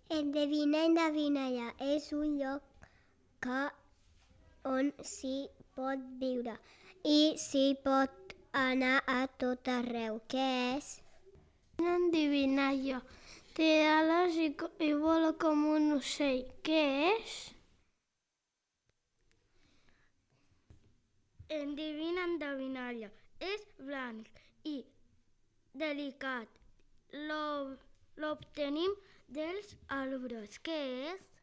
Endevinalla és un lloc on s'hi pot viure i s'hi pot anar a tot arreu. Què és? Una endevinalla. Té ales i vola com un ocell. Què és? Endevinalla. És blanc i delicat. L'obtenim dels arbres. Què és?